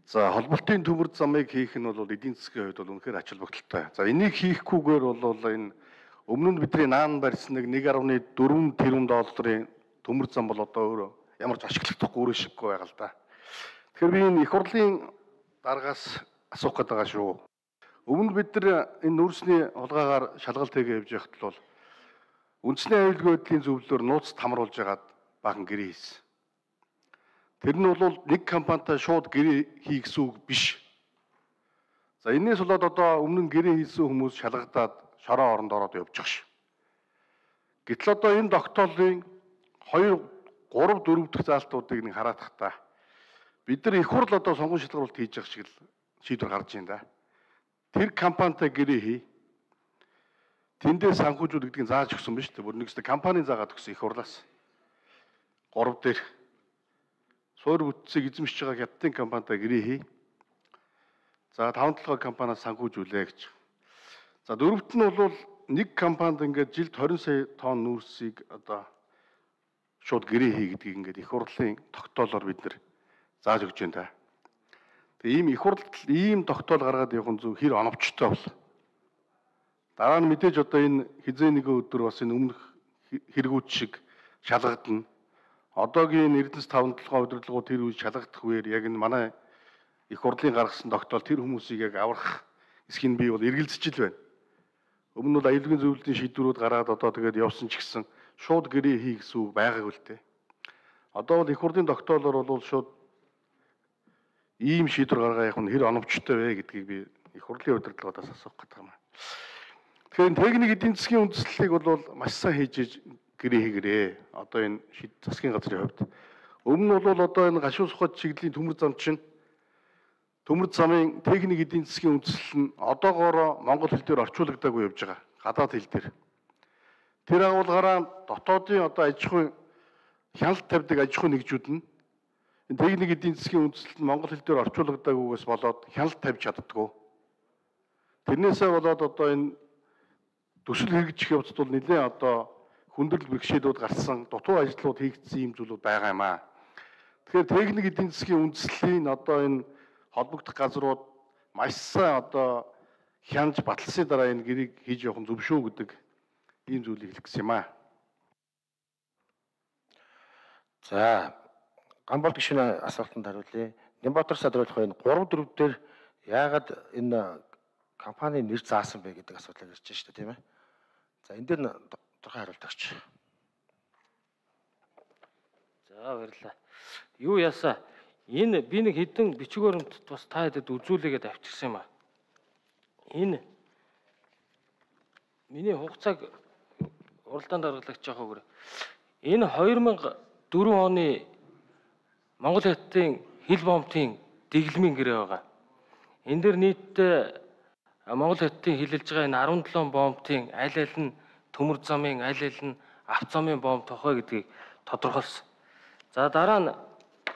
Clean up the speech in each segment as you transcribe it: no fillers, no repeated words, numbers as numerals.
За холболтын төмөр замыг хийх нь бол эдийн засгийн хувьд бол үнэхээр ач холбогдолтой. За энийг хийхгүйгээр бол энэ өмнө нь бидний наан барьсан 1.4 тэрбум долларын төмөр зам бол одоо өөр ямар ч ашиглахдаггүй өөрөө шиггүй байгаа л да. Тэгэхээр би энэ их хурлын дараагаас асуух гээд байгаа шүү. Өмнө бид нар энэ нүүрсний хулгайгаар шалгалт хийгээ явж байхад бол үндэсний аюулгүй байдлын зөвлөлөөр нууц хамруулж хагаад бахан гэрээ хийсэн. Тэр нь бол нэг компанитай шууд гэрээ хий гэсэн үг биш. За энэс болоод одоо өмнө нь гэрээ хийсэн хүмүүс шалгагдаад шороо оронд ороод явж байгаа ш. Гэтэл одоо энэ тогтоолын 2, 3, 4 дахь заалтуудыг нэг хараад тахта. Бид нар их хурл одоо сонгон шалгаруулалт хийж байгаа шиг л шийдвэр гарч байна да. Тэр компанитай гэрээ хий. Тэндээ санхүүжүүл гэдгийг зааж өгсөн ба шүү дээ. Бүр нэгсдэ компанийн заагаад өгсөн их хурлаас. 3 дээр суур бүтцийг эзэмшиж байгаа хятадын компанитай гэрээ хий. За 5-7 компаниас санхүүжүүлээ гэж. За дөрөвт нь бол нэг компанид ингээд жилд 20 сая тонн нүүрсийг одоо шууд гэрээ хий гэдгийг ингээд их хурлын тогтоолоор бид нэр зааж өгч байна та. Тэгээ ийм их хурлд ийм тогтоол гаргаад явах нь зөв хэр оновчтой бол. Дараа нь мэдээж одоо энэ хизээ нэгэн өдөр бас энэ өмнөх хэрэгүүд шиг шалгагдана. Одоогийн Эрдэнэс 5-7 удирдлагууд тэр үе шалгагдах үеэр яг энэ манай их хурлын гаргасан тогтоол тэр хүмүүсийг яг аврах эсхийг би бол эргэлзэж ил байна. Өмнө нь бол аюулгүй зөвлөлийн шийдвэрүүд гараад одоо тэгээд явсан ч гэсэн шууд гэрээ хий гэсэн үг байгаагүй л дээ. Одоо бол их хурлын тогтоолоор бол шууд ийм шийдвэр гаргаа явах нь хэр оновчтой вэ гэдгийг би их хурлын удирдлагуудаас асуух гэдэг юм. Тэгэхээр техник эдийн засгийн үндэслэлийг бол маш сайн хийж гэрээ хийгэрээ. Одоо энэ засгийн газрын хувьд. Өмнө нь бол одоо энэ гашуун сухад чиглэлийн төмөр зам чинь төмөр замын техник эдийн засгийн үндэслэл нь одоогоор монгол хэл дээр орчуулагдаагүй явж байгаа. Гадаад хэл дээр. Тэр агуулгаараа дотоодын одоо аж ахуйн хяналт тавьдаг аж ахуйн нэгжүүд нь энэ техник эдийн засгийн үндэслэл нь монгол хэл дээр орчуулагдаагүйгээс болоод хяналт тавьж чаддгүй. Тэрнээсээ болоод одоо энэ төсөл хэрэгжих явцад бол нэлээд одоо хүндрэл бэрхшээлүүд гарсан, дутуу ажлууд хийгдсэн юм зүйлүүд байгаа юм аа. Тэгэхээр техник эдийн засгийн үндэслэлийн одоо энэ холбогдох газрууд маш сайн одоо хянаж баталсны дараа энэ гэрийг хийж явах нь зөв шүү гэдэг ийм зүйлийг хэлэх гэсэн юм аа. За Гамбол гишүүний асуултанд хариулъя. Нямбатар Садруулах энэ 3-4 дээр яагаад энэ компани нэр заасан бэ гэдэг асуудал ирж байна шүү дээ, тийм ээ. За энэ дээр тодорхой хариулт өгч. За баярлалаа. Юу яасаа энэ би нэг хэдэн бичиг баримтд бас та хэдэд үзүүлээгээд авчирсан юм аа. Энэ миний хугацааг уралдаанд гаргалагч яахаагүй. Энэ 2004 оны Монгол хятадын хил бомбын дэглэмийн гэрээ байгаа. Энэ дэр нийтдээ Монгол хятадын хилэлж байгаа энэ 17 бомбын аль аль нь төмөр замын аль аль нь авто замын бомб тохой гэдгийг тодорхойлсон. За дараа нь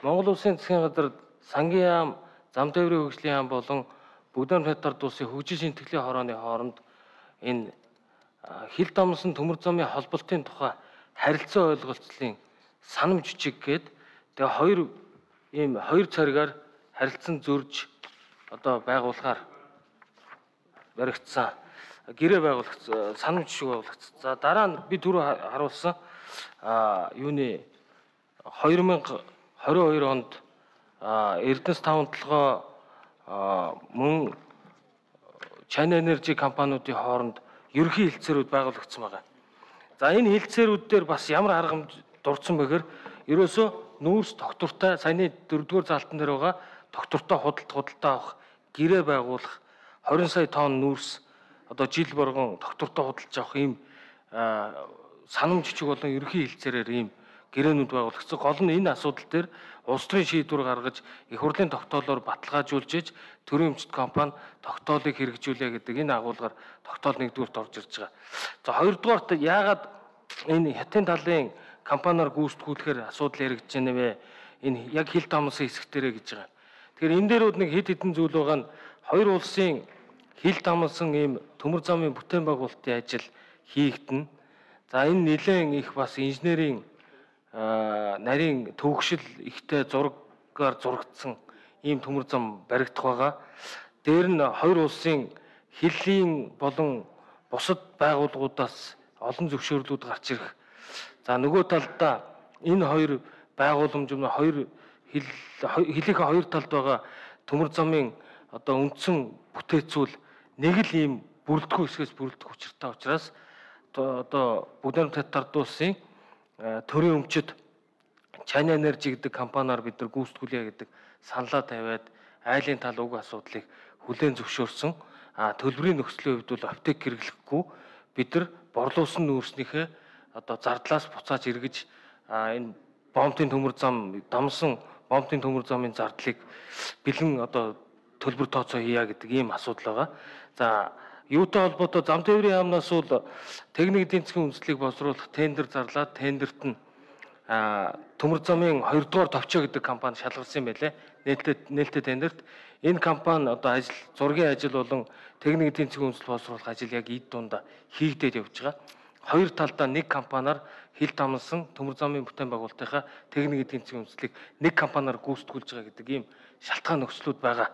Монгол Улсын засгийн газар сангийн яам, зам тээврийн хөгжлийн яам болон Бүгдээр хятад улсын хөгжлийн шинтгэлийн хорооны хооронд энэ хил дамсан төмөр замын холболтын тухай харилцаа ойлголцлын санам жижиг гээд тэгээ хоёр царигаар харилцан зөрж одоо байгуулахаар баригдсан гэрээ байгуулагдсан санам жишг байгуулагдсан. За дараа нь би түрүү харуулсан юуны 2022 онд Эрдэнэс 5-7 мөн China Energy компаниудын хооронд ерөнхий хэлцээрүүд байгуулагдсан байгаа. За энэ хэлцээрүүд дээр бас ямар арга хэмжээ дурдсан бэхээр ерөөсөө нүүрс доктортой саяны 4-р залтан дээр байгаа доктортой худалдаа авах гэрээ байгуулах 20 сая тонн нүүрс одоо жил боргон доктортой худалдаж авах ийм санам жижиг болон ерөнхий хэлцээрээр ийм гэрээнүүд байгуулагдсан. Гол нь энэ асуудал дээр улс төрийн шийдвэр гаргаж их хурлын тогтоолоор баталгаажуулж иж төрийн өмчт компани тогтоолыг хэрэгжүүлээ гэдэг энэ агуулгаар тогтоол нэгдүгüүрт орж ирж байгаа. За хоёрдугаарт яагаад энэ хятадын талын компаниар гүйцэтгүүлэхээр асуудал яригдж байна вэ? Энэ яг хил дамсан хэсэг дээрээ гэж байгаа. Тэгэхээр энэ дээрүүд нэг хэд хэдэн зүйл байгаа нь хоёр улсын хил дамсан ийм төмөр замын бүтээн байгуулалтын ажил хийгдэнэ. За энэ нэлээд их бас инженерийн нарийн төвөгшил ихтэй зургаар зурагдсан ийм төмөр зам баригдах байгаа. Дээр нь хоёр улсын хэллийн болон бусад байгууллагуудаас олон зөвшөөрлүүд гарч ирэх. За нөгөө талдаа энэ хоёр байгууламж нь хоёр хэлийнхээ хоёр талд байгаа төмөр замын одоо үндсэн бүтээцүүл нэг л ийм бүрэлдэхүүн хэсгээс бүрэлдэх учиртай учраас одоо Бүгд найрамд Хятад улсын төрийн өмчөд China Energy гэдэг компаниар бид нар гүйцэтгүүлье гэдэг саналаа тавиад айлын тал уг асуудлыг хүлээн зөвшөөрсөн. Төлбөрийн нөхцөлийн хувьд бол аптек хэрэглэхгүй бид нар борлуулсан нүүрснийхээ одоо зардлаас буцааж эргэж энэ бомтын төмөр зам дамсан бомтын төмөр замын зардлыг бэлэн одоо төлбөр тооцоо хийя гэдэг ийм асуудал байгаа. За юутай холбоотой зам тээврийн яамнаас бол техник эдийн засгийн үндэслэлийг боловсруулах тендер зарлаад тендерт нь төмөр замын 2 дугаар товчоо гэдэг компани шалгарсан байлээ. Нээлттэй тендерт энэ компани одоо зургийн ажил болон техник эдийн засгийн үндэслэл боловсруулах ажил яг эд дундаа хийгдээд явж байгаа. Хоёр талдаа нэг компаниар хил дамнсан төмөр замын бүтээн байгуулалтынхаа техник эдийн засгийн үндэслэлийг нэг компаниар гүйцэтгүүлж байгаа гэдэг ийм шалтгаан нөхцлүүд байгаа.